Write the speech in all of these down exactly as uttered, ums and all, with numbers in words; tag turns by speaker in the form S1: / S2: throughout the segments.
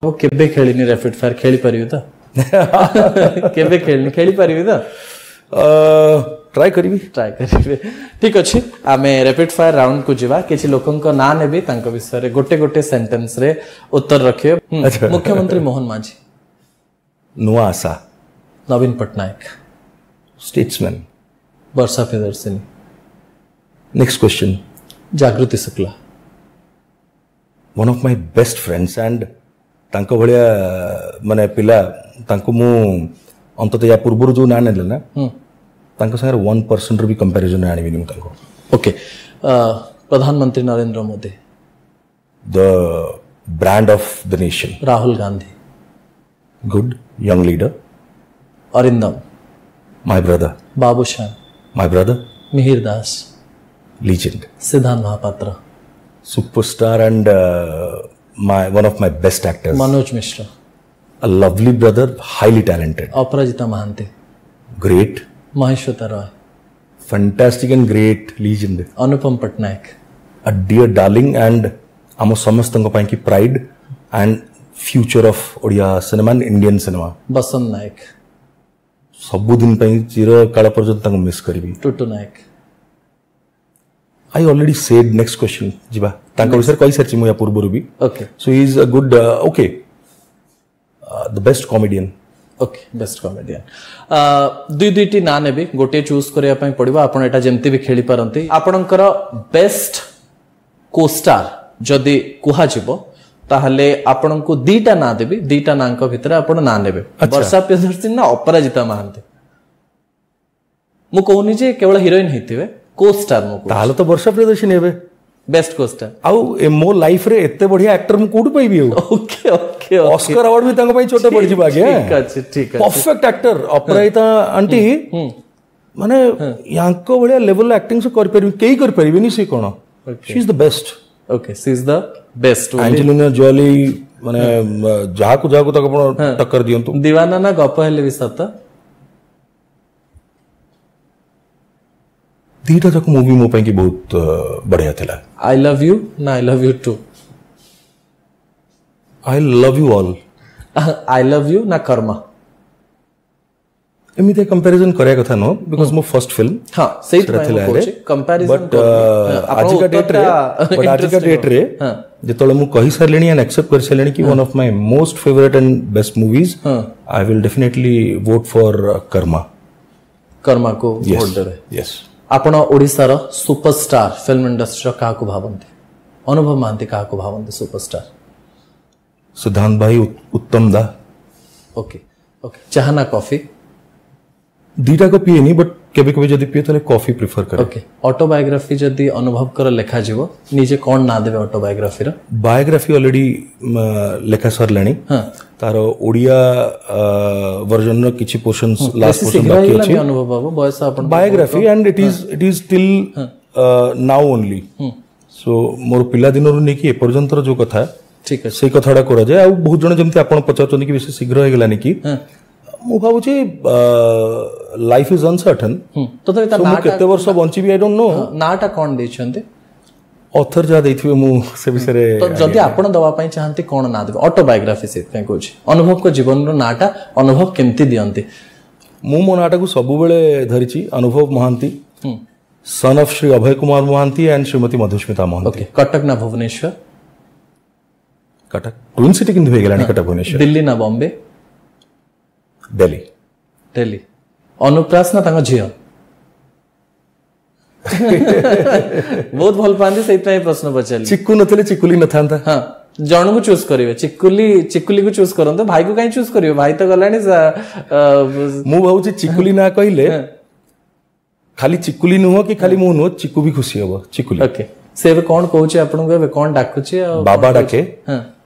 S1: ମୁଁ କେବେ ଖେଳିନି rapid fire ଖେଳିପାରିବି ତ କେବେ ଖେଳିନି ଖେଳିପାରିବି ତ
S2: ଟ୍ରାଏ କରିବି
S1: ଟ୍ରାଏ କରିବେ ଠିକ ଅଛି ଆମେ ରାପିଡ୍ ଫାୟାର ରାଉଣ୍ଡକୁ ଯିବା କିଛି ଲୋକଙ୍କ ନାଁ ନେବି ତାଙ୍କ ବିଷୟରେ ଗୋଟେ ଗୋଟେ ସେଣ୍ଟେନ୍ସରେ ଉତ୍ତର ରଖିବେ ହୁଁ, ମୁଖ୍ୟମନ୍ତ୍ରୀ ମୋହନ ମାଝୀ
S2: ନୂଆ ଆଶା
S1: ନବୀନ ପଟ୍ଟନାୟକ
S2: ଷ୍ଟେଟ୍ସମ୍ୟାନ୍
S1: ବର୍ଷା Priyadarshini
S2: next question
S1: Jagruti Shukla
S2: One of my best friends and ତାଙ୍କ ଭଳିଆ ମାନେ ପିଲା ତାଙ୍କୁ ମୁଁ ଅନ୍ତତଃ ୟା ପୂର୍ବରୁ ଯୋଉ ନାଁ ନେଲେ ନା ତାଙ୍କ ସାଙ୍ଗରେ ୱାନ୍ ପରସେଣ୍ଟର ବି କମ୍ପାରିଜନ୍ ଆଣିବିନି ମୁଁ ତାଙ୍କୁ
S1: ଓକେ ପ୍ରଧାନମନ୍ତ୍ରୀ Narendra Modi
S2: The brand of the nation
S1: Rahul Gandhi
S2: good young leader
S1: Arindam
S2: my brother
S1: Babushan
S2: my brother
S1: Mihir Das
S2: legend
S1: Siddhanta Mohapatra
S2: superstar and uh, my one of my best actors
S1: Manoj Mishra
S2: a lovely brother highly talented
S1: Aparajita Mohanty
S2: great
S1: Mahasweta Roy
S2: fantastic and great legend
S1: Anupam Patnaik
S2: a dear darling and ଆମ ସମସ୍ତଙ୍କ ପାଇଁ କି pride and future of Odia cinema and Indian cinema
S1: Basanta Nayak
S2: ସବୁଦିନ ପାଇଁ ଚିରକାଳ ପର୍ଯ୍ୟନ୍ତ ତାଙ୍କୁ miss କରିବି
S1: Tutu Nayak
S2: I already said next question ଯିବା ତାଙ୍କ ବିଷୟରେ କହିସାରିଛି ମୁଁ ୟା ପୂର୍ବରୁ ବି
S1: okay
S2: So is a good okay the best comedian
S1: okay best comedian ଦୁଇ ଦୁଇଟି ନାଁ ନେବି ଗୋଟିଏ ଚୁଜ୍ କରିବା ପାଇଁ ପଡ଼ିବ ଆପଣ ଏଇଟା ଯେମିତି ବି ଖେଳିପାରନ୍ତି ଆପଣଙ୍କର ବେଷ୍ଟ କୋଷ୍ଟାର ଯଦି କୁହାଯିବ ତାହେଲେ ଆପଣଙ୍କୁ ଦିଟା ନାଁ ଦେବି ଦିଟା ନାଁଙ୍କ ଭିତରେ ଆପଣ ନାଁ ନେବେ ବର୍ଷା ପ୍ରିୟଦର୍ଶିନୀ ନା ଅପରାଜିତା ମହାନ୍ତି ମୁଁ କହୁନି ଯେ କେବଳ ହିରୋଇନ ହେଇଥିବେ କୋଷ୍ଟାର ମୁଁ କହୁଛି
S2: ତାହେଲେ ତ ବର୍ଷା ପ୍ରିୟଦର୍ଶିନୀ ହେବେ
S1: ବେଷ୍ଟ କୋଷ୍ଟାର
S2: ଆଉ ଏ ମୋ ଲାଇଫରେ ଏତେ ବଢିଆ ଆକ୍ଟର ମୁଁ କୋଉଠୁ ପାଇବି ଆଉ
S1: ଓକେ ଓକେ
S2: ଅସ୍କର ଆୱାର୍ଡ ବି ତାଙ୍କ ପାଇଁ ଛୋଟ ପଡିଯିବ ଆଜ୍ଞା
S1: ଠିକ ଅଛି ଠିକ ଅଛି
S2: ପରଫେକ୍ଟ ଆକ୍ଟର ଅପରାଜିତା ଆଣ୍ଟି ମାନେ ୟାଙ୍କ ଭଳିଆ ଲେଭେଲ ଆକ୍ଟିଂ ସେ କରିପାରିବେ କେହି କରିପାରିବେନି ସେ କଣ she is the best
S1: Okay she is the best
S2: Angelina Jolly ମାନେ ଯାହାକୁ ଯାହାକୁ ତାକୁ ଆପଣ ଟକ୍କର ଦିଅନ୍ତୁ
S1: ଦିୱାନା ନା ଗପ ହେଲେ ବି ସତ
S2: ଦିଟା ଯାକ ମୁଭି ମୋ ପାଇଁ କି ବହୁତ ଅ, ବଢିଆ ଥିଲା
S1: I love you ନା I love you too
S2: I love you all
S1: I love you ନା କର୍ମା
S2: ଏମିତି କମ୍ପାରିଜନ କରିବା କଥା ନୁହଁ because ମୋ ଫର୍ଷ୍ଟ ଫିଲ୍ମ
S1: ହଁ ସେଇଥିପାଇଁ ମୁଁ କହୁଛି କମ୍ପାରିଜନ
S2: ବଟ୍ ଆଜିକା ଡେଟ୍ରେ ବଟ୍ ଆଜିକା ଡେଟ୍ରେ ଯେତେବେଳେ ମୁଁ କହିସାରିଲିଣି ଆଣ୍ଡ ଆକ୍ସେପ୍ଟ କରିସାରିଲିଣି କି one of my most favourite and best movies I will definitely vote for Karma
S1: କର୍ମାକୁ vote ଦେବେ
S2: ୟେସ୍
S1: ଆପଣ ଓଡ଼ିଶାର ସୁପରଷ୍ଟାର ଫିଲ୍ମ ଇଣ୍ଡଷ୍ଟ୍ରିର କାହାକୁ ଭାବନ୍ତି ଅନୁଭବ ମହାନ୍ତି କାହାକୁ ଭାବନ୍ତି ସୁପରଷ୍ଟାର
S2: ସିଦ୍ଧାନ୍ତ ଭାଇ ଉତ୍ତମ ଦା
S1: ଓକେ ଓକେ ଚାହା ନା କଫି
S2: ଦିଟାକ ପିଏନି ବଟ୍ କେବେ କେବେ ଯଦି ପିଏ ତାହେଲେ କଫି ପ୍ରିଫର କରେ
S1: ଓକେ ଅଟୋବାୟୋଗ୍ରାଫି ଯଦି ଅନୁଭବଙ୍କର ଲେଖାଯିବ ନିଜେ କ'ଣ ନାଁ ଦେବେ ଅଟୋବାୟୋଗ୍ରାଫିର
S2: ବାୟୋଗ୍ରାଫି ଅଲରେଡି ଲେଖା ସରିଲାଣି ତାର ଓଡ଼ିଆ ଭର୍ଜନର କିଛି ପୋର୍ସନ୍ସ ଲାଷ୍ଟ ପୋର୍ସନ
S1: ଶୀଘ୍ର
S2: ବାକି
S1: ହେଇଗଲାନି
S2: ଅଛି
S1: ଅନୁଭବ ବାବୁ ବୟସ ଆପଣ
S2: biography and it is it is till now only so ମୋର ପିଲାଦିନରୁ ନେଇକି ଏପର୍ଯ୍ୟନ୍ତର ଯୋଉ କଥା
S1: ଠିକ ଅଛି
S2: ସେଇ କଥାଟା କରାଯାଏ ଆଉ ବହୁତ ଜଣ ଯେମିତି ଆପଣ ପଚାରୁଛନ୍ତି କି ବେଶୀ ଶୀଘ୍ର ହେଇଗଲାନି କି ମୁଁ ଭାବୁଛି life is uncertain
S1: ତଥାପି ତା
S2: ମୁଁ କେତେ ବର୍ଷ ବଞ୍ଚିବି I don't know
S1: ନାଁଟା କ'ଣ ଦେଇଛନ୍ତି
S2: ଅଥର ଯାହା ଦେଇଥିବେ ମୁଁ ସେ ବିଷୟରେ
S1: ତ ଯଦି ଆପଣ ଦେବା ପାଇଁ ଚାହାନ୍ତି କ'ଣ ନାଁ ଦେବେ ଅଟୋବାୟୋଗ୍ରାଫି ସେଥିପାଇଁ କହୁଛି ଅନୁଭବଙ୍କ ଜୀବନର ନାଁଟା ଅନୁଭବ କେମିତି ଦିଅନ୍ତି
S2: ମୁଁ ମୋ ନାଁଟାକୁ ସବୁବେଳେ ଧରିଛି Anubhav Mohanty son of Shri Abhay Kumar Mohanty and Shrimati Madhusmita Mohanty
S1: okay Cuttack ନା ଭୁବନେଶ୍ୱର
S2: କଟକ ଟ୍ୱିନ୍ ସିଟି କିନ୍ତୁ ହେଇଗଲାଣି କଟକ ଭୁବନେଶ୍ୱର
S1: ଦିଲ୍ଲୀ ନା ବମ୍ବେ
S2: ଦିଲ୍ଲୀ
S1: ଦିଲ୍ଲୀ ଅନୁପ୍ରାସ ନା ତାଙ୍କ ଝିଅ ବହୁତ ଭଲ ପାଆନ୍ତି ସେଇଥିପାଇଁ ଏ ପ୍ରଶ୍ନ ପଚାରିଲି
S2: ଚିକୁ ନଥିଲେ ଚିକୁଲି ନଥାନ୍ତା
S1: ହଁ ଜଣକୁ ଚୁଜ୍ କରିବେ ଚିକୁଲି ଚିକୁଲିକୁ ଚୁଜ୍ କରନ୍ତୁ ଭାଇକୁ କାହିଁ ଚୁଜ୍ କରିବେ ଭାଇ ତ ଗଲାଣି ସା- ଅ,
S2: ମୁଁ ଭାବୁଛି ଚିକୁଲି ନା କହିଲେ ଖାଲି ଚିକୁଲି ନୁହଁ କି ଖାଲି ମୁଁ ନୁହଁ ଚିକୁ ବି ଖୁସି ହବ ଚିକୁଲି
S1: ଓକେ ସେ ଏବେ କ'ଣ କହୁଛି ଆପଣଙ୍କୁ ଏବେ କ'ଣ ଡାକୁଛି ଆଉ
S2: ବାବା ଡାକେ
S1: ହଁ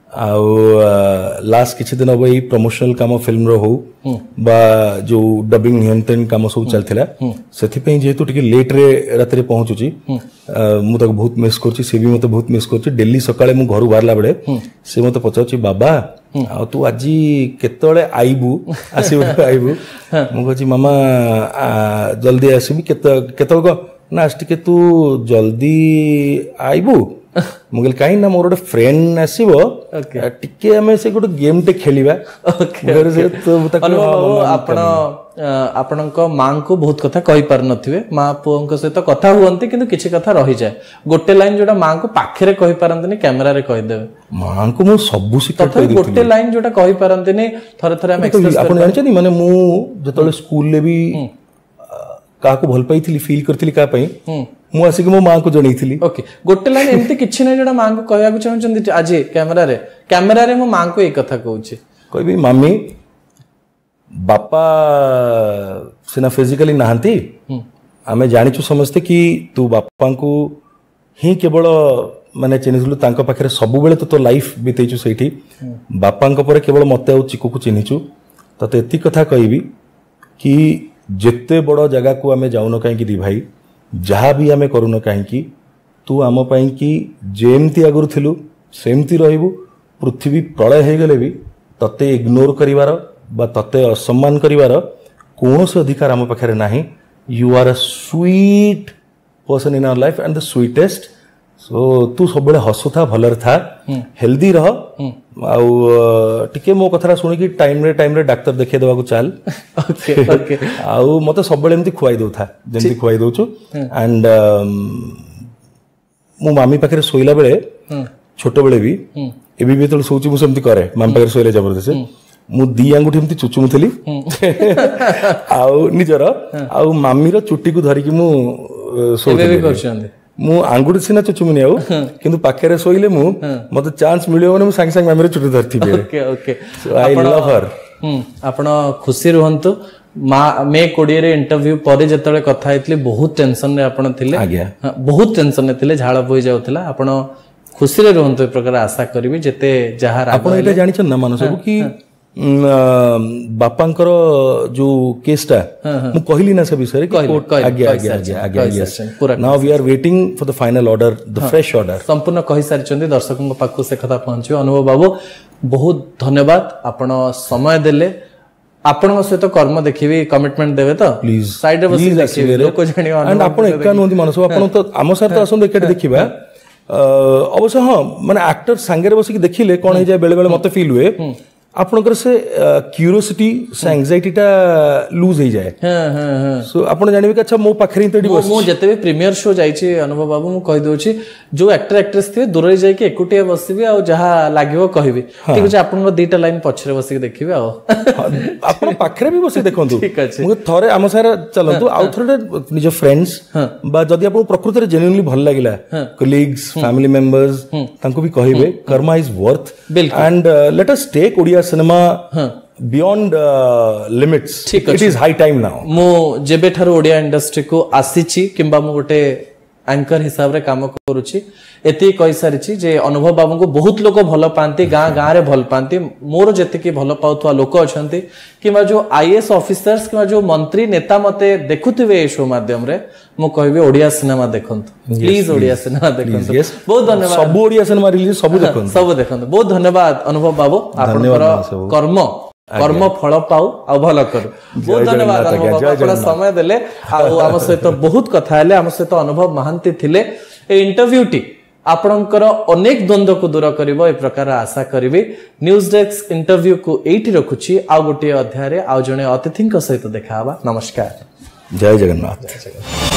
S2: ଆଉ ଲାଷ୍ଟ କିଛି ଦିନ ହବ ଏଇ ପ୍ରମୋସନାଲ କାମ ଫିଲ୍ମର ହଉ ବା ଯୋଉ ଡବିଂ ନିୟନ୍ତ୍ରଣ କାମ ସବୁ ଚାଲିଥିଲା ସେଥିପାଇଁ ଯେହେତୁ ଟିକେ ଲେଟ୍ରେ ରାତିରେ ପହଞ୍ଚୁଛି ଆ, ମୁଁ ତାକୁ ବହୁତ ମିସ୍ କରୁଛି ସେ ବି ମତେ ବହୁତ ମିସ୍ କରୁଛି ଡେଲି ସକାଳେ ମୁଁ ଘରୁ ବାହାରିଲା ବେଳେ ସେ ମତେ ପଚାରୁଛି ବାବା ଆଉ ତୁ ଆଜି କେତେବେଳେ ଆଇବୁ ଆସିବୁ ଆଇବୁ ମୁଁ କହୁଛି ମାମା ଆ, ଜଲ୍ଦି ଆସିବି କେତେ କେତେବେଳେ କହ ନା ଆଜି ଟିକେ ତୁ ଜଲ୍ଦି ଆଇବୁ ମୁଁ କହିଲି କାହିଁ ନା ମୋର ଗୋଟେ ଫ୍ରେଣ୍ଡ ଆସିବ ଟିକେ ଆମେ ସେ ଗୋଟେ ଗେମ୍ଟେ ଖେଳିବା। ଘରେ ସେ ତ ତାକୁ
S1: ଅନୁଭବ
S2: ହଁ,
S1: ବାବୁ,
S2: ମାମା,
S1: ଆପଣ ଅ, ଆପଣଙ୍କ ମାଙ୍କୁ ବହୁତ କଥା କହିପାରୁନଥିବେ। ମା ପୁଅଙ୍କ ସହିତ କଥା ହୁଅନ୍ତି, କିନ୍ତୁ କିଛି କଥା ରହିଯାଏ। ଗୋଟେ ଲାଇନ ଯୋଉଟା ମାଙ୍କୁ ପାଖରେ କହିପାରନ୍ତିନି, କ୍ୟାମେରାରେ କହିଦେବେ।
S2: ମାଙ୍କୁ ମୁଁ ସବୁ ସିକ୍ରେଟ
S1: ତଥାପି ଗୋଟେ ଲାଇନ ଯୋଉଟା କହିପାରନ୍ତିନି, ଥରେ ଥରେ ଆମେ ଏକ୍ସପ୍ରେସ
S2: ଆପଣ ଜାଣିଛନ୍ତି, ମାନେ ମୁଁ ଯେତେବେଳେ ସ୍କୁଲରେ ବି ଆ, କାହାକୁ ଭଲ ପାଇଥିଲି, ଫିଲ୍ କରିଥିଲି କାହା ପାଇଁ, ମୁଁ ଆସିକି ମୋ ମାଙ୍କୁ ଜଣେଇଥିଲି।
S1: ଓକେ, ଗୋଟେ ଲାଇନ ଏମିତି କିଛି ନାହିଁ ଯୋଉଟା ମାଙ୍କୁ କହିବାକୁ ଚାହୁଁଛନ୍ତି ଆଜି କ୍ୟାମେରାରେ? କ୍ୟାମେରାରେ ମୁଁ ମାଙ୍କୁ ଏଇ କଥା କହୁଛି।
S2: କହିବି, ମାମି, ବାପା ସିନା ଫିଜିକାଲି ନାହାନ୍ତି, ଆମେ ଜାଣିଛୁ ସମସ୍ତେ କି ତୁ ବାପାଙ୍କୁ ହିଁ କେବଳ ମାନେ ଚିହ୍ନିଥିଲୁ, ତାଙ୍କ ପାଖରେ ସବୁବେଳେ ତୁ ତୋ ଲାଇଫ ବିତେଇଛୁ ସେଇଠି। ବାପାଙ୍କ ପରେ କେବଳ ମତେ ଆଉ ଚିକୁକୁ ଚିହ୍ନିଛୁ। ତତେ ଏତିକି କଥା କହିବି କି ଯେତେ ବଡ଼ ଜାଗାକୁ ଆମେ ଯାଉନ କାହିଁକି ଦି ଭାଇ, ଯାହା ବି ଆମେ କରୁନ କାହିଁକି, ତୁ ଆମ ପାଇଁ କି ଯେମିତି ଆଗରୁ ଥିଲୁ ସେମିତି ରହିବୁ। ପୃଥିବୀ ପ୍ରଳୟ ହେଇଗଲେ ବି ତତେ ଇଗ୍ନୋର କରିବାର ବା ତତେ ଅସମ୍ମାନ କରିବାର କୌଣସି ଅଧିକାର ଆମ ପାଖରେ ନାହିଁ। You are a sweet person in our life and the sweetest, so ତୁ ସବୁବେଳେ ହସୁଥା, ଭଲରେ ଥା, ହେଲ୍ଦି ରହ, ଆଉ ଅ, ଟିକେ ମୋ କଥାଟା ଶୁଣିକି ଟାଇମରେ ଟାଇମରେ ଡାକ୍ତର ଦେଖେଇ ଦେବାକୁ ଚାଲ।
S1: ଓକେ ଓକେ
S2: ଆଉ ମତେ ସବୁବେଳେ ଏମିତି ଖୁଆଇ ଦଉଥା ଯେମିତି ଖୁଆଇ ଦଉଛୁ। ଆଣ୍ଡ ମୁଁ ମାମି ପାଖରେ ଶୋଇଲା ବେଳେ, ଛୋଟବେଳେ ବି, ଏବେ ବି ଯେତେବେଳେ ଶୋଉଛି, ମୁଁ ସେମିତି କରେ। ମାମି ପାଖରେ ଶୋଇଲେ ଜବରଦସ୍ତି ମୁଁ ଦି ଆଙ୍ଗୁଠି ଏମିତି ଚୁଚୁମୁଥିଲି ଆଉ ନିଜର ଆଉ ମାମିର ଚୁଟିକୁ ଧରିକି ମୁଁ ଅ,
S1: ଏବେ ବି
S2: ଶୋଉଥିଲି।
S1: କରୁଛନ୍ତି?
S2: ମୁଁ ଆଙ୍ଗୁଠି ସିନା ଚୁଚୁମିନି ଆଉ, କିନ୍ତୁ ପାଖରେ ଶୋଇଲେ ମୁଁ ମତେ ଚାନ୍ସ ମିଳିବ ମାନେ ମୁଁ ସାଙ୍ଗେ ସାଙ୍ଗେ ମାମିର ଚୁଟି ଧରିଥିବି।
S1: Okay okay
S2: I love her.
S1: ହୁଁ ଆପଣ ଖୁସି ରୁହନ୍ତୁ। ମା ମେ କୋଡିଏରେ ଇଣ୍ଟରଭ୍ୟୁ ପରେ ଯେତେବେଳେ କଥା ହେଇଥିଲି, ବହୁତ ଟେନସନରେ ଆପଣ ଥିଲେ।
S2: ଆଜ୍ଞା।
S1: ହଁ, ବହୁତ ଟେନସନରେ ଥିଲେ, ଝାଳ ବୋହି ଯାଉଥିଲା। ଆପଣ ଖୁସିରେ ରୁହନ୍ତୁ ଏ ପ୍ରକାର ଆଶା କରିବି। ଯେତେ ଯାହା ରାଗ
S2: ଆପଣ ଏଇଟା ଜାଣିଛନ୍ତି ନା ମାନସ ବାବୁ କି ଉଁ, ଆ, ବାପାଙ୍କର ଯୋଉ କେସଟା ମୁଁ କହିଲି ନା, ସେ ବିଷୟରେ କି
S1: କହିଲେ,
S2: କୋର୍ଟ-
S1: କହିଲେ,
S2: ଆଜ୍ଞା ଆଜ୍ଞା
S1: କହିସାରିଛନ୍ତି,
S2: ଆଜ୍ଞା ଆଜ୍ଞା
S1: କହିସାରିଛନ୍ତି, ପୁରା।
S2: Now we are waiting for the final order, the fresh order.
S1: ସମ୍ପୂର୍ଣ୍ଣ କହିସାରିଛନ୍ତି, ଦର୍ଶକଙ୍କ ପାଖକୁ ସେ କଥା ପହଞ୍ଚିବ। ଅନୁଭବ ବାବୁ, ବହୁତ ଧନ୍ୟବାଦ, ଆପଣ ସମୟ ଦେଲେ। ଆପଣଙ୍କ ସହିତ କର୍ମ ଦେଖିବି, କମିଟମେଣ୍ଟ ଦେବେ ତ?
S2: ପ୍ଲିଜ।
S1: ସାଇଡରେ ବସି ଦେଖିବି, ଲୋକ ଜାଣିବ।
S2: ଆଣ୍ଡ ଆପଣ ଏକା ନୁହନ୍ତି ମାନସ ବାବୁ, ଆପଣ ତ ଆମ ସାର୍ ତ ଆସନ୍ତୁ, ଏକାଠି ଦେଖିବା। ଅ, ଅବଶ୍ୟ ହଁ, ମାନେ ଆକ୍ଟର ସାଙ୍ଗରେ ବସିକି ଦେଖିଲେ କଣ ହେଇଯାଏ, ବେଳେ ବେଳେ ମତେ ଫିଲ୍ ହୁଏ ଆପଣଙ୍କର ସେ କ୍ୟୁରିଓସିଟି, ସେ ଆଙ୍ଗଜାଇଟିଟା ଲୁଜ୍ ହେଇଯାଏ।
S1: ହଁ ହଁ ହଁ
S2: ସୋ ଆପଣ ଜାଣିବେ କି ଆଚ୍ଛା, ମୋ ପାଖରେ ହିଁ ତ ଏଠି ବସିଛି।
S1: ମୁଁ ଯେତେ ବି ପ୍ରିମିୟର ଶୋ ଯାଇଛି ଅନୁଭବ ବାବୁ, ମୁଁ କହିଦଉଛି, ଯୋଉ ଆକ୍ଟର ଆକ୍ଟ୍ରେସ ଥିବେ ଦୂରରେ ଯାଇକି ଏକୁଟିଆ ବସିବି ଆଉ ଯାହା ଲାଗିବ କହିବି। ଠିକ ଅଛି, ଆପଣଙ୍କ ଦିଟା ଲାଇନ ପଛରେ ବସିକି ଦେଖିବି ଆଉ।
S2: ହଁ, ଆପଣ ପାଖରେ ବି ବସି ଦେଖନ୍ତୁ।
S1: ଠିକ ଅଛି।
S2: ମୁଁ ଥରେ ଆମ ସାଙ୍ଗରେ ଚାଲନ୍ତୁ, ଆଉ ଥରେ ନିଜ ଫ୍ରେଣ୍ଡସ୍ ବା ଯଦି ଆପଣଙ୍କୁ ପ୍ରକୃତରେ ଜେନ୍ୟୁନଲି ଭଲ ଲାଗିଲା, କଲିଗ୍ସ, ଫ୍ୟାମିଲି ମେମ୍ବର୍ସ, ତାଙ୍କୁ ବି କହିବେ। Karma is worth
S1: ବିଲକୁଲ।
S2: And let us take Odia cinema beyond limits.
S1: ଠିକ
S2: It is high time now.
S1: ମୁଁ ଯେବେଠାରୁ ଓଡ଼ିଆ ଇଣ୍ଡଷ୍ଟ୍ରିକୁ ଆସିଛି କିମ୍ବା ମୁଁ ଗୋଟେ ଆଙ୍କର ହିସାବରେ କାମ କରୁଛି, ଏତିକି କହିସାରିଛି ଯେ ଅନୁଭବ ବାବୁଙ୍କୁ ବହୁତ ଲୋକ ଭଲ ପାଆନ୍ତି, ଗାଁ ଗାଁରେ ଭଲ ପାଆନ୍ତି। ମୋର ଯେତିକି ଭଲ ପାଉଥିବା ଲୋକ ଅଛନ୍ତି କିମ୍ବା ଯୋଉ ଆଇଏଏସ୍ ଅଫିସର୍ସ କିମ୍ବା ଯୋଉ ମନ୍ତ୍ରୀ ନେତା ମତେ ଦେଖୁଥିବେ ଏ ଶୋ ମାଧ୍ୟମରେ, ମୁଁ କହିବି ଓଡ଼ିଆ ସିନେମା ଦେଖନ୍ତୁ, ପ୍ଲିଜ ଓଡ଼ିଆ ସିନେମା ଦେଖନ୍ତୁ। ବହୁତ ଧନ୍ୟବାଦ।
S2: ସବୁ ଓଡ଼ିଆ ସିନେମା ରିଲିଜ, ସବୁ ଦେଖନ୍ତୁ।
S1: ସବୁ ଦେଖନ୍ତୁ। ବହୁତ ଧନ୍ୟବାଦ ଅନୁଭବ ବାବୁ, ଆପଣଙ୍କର
S2: ସବୁ।
S1: କର୍ମ କର୍ମ ଫଳ ପାଉ ଆଉ ଭଲ କରୁ। ବହୁତ ଧନ୍ୟବାଦ
S2: ଜଗନ୍ନାଥ
S1: ଅନୁଭବ
S2: ଆଜ୍ଞା,
S1: ବାବୁ,
S2: ଜୟ
S1: ଆପଣ
S2: ଜଗନ୍ନାଥ।
S1: ସମୟ ଦେଲେ ଆଉ ଆମ ସହିତ ବହୁତ କଥା ହେଲେ। ଆମ ସହିତ ଅନୁଭବ ମହାନ୍ତି ଥିଲେ। ଏଇ ଇଣ୍ଟରଭ୍ୟୁଟି ଆପଣଙ୍କର ଅନେକ ଦ୍ୱନ୍ଦ୍ୱକୁ ଦୂର କରିବ ଏ ପ୍ରକାର ଆଶା କରିବି। ନ୍ୟୁଜ ଡେସ୍କ ଇଣ୍ଟରଭ୍ୟୁକୁ ଏଇଠି ରଖୁଛି। ଆଉ ଗୋଟିଏ ଅଧ୍ୟାୟରେ ଆଉ ଜଣେ ଅତିଥିଙ୍କ ସହିତ ଦେଖା ହବା। ନମସ୍କାର।
S2: ଜୟ ଜଗନ୍ନାଥ।
S1: ଜୟ ଜଗନ୍ନାଥ।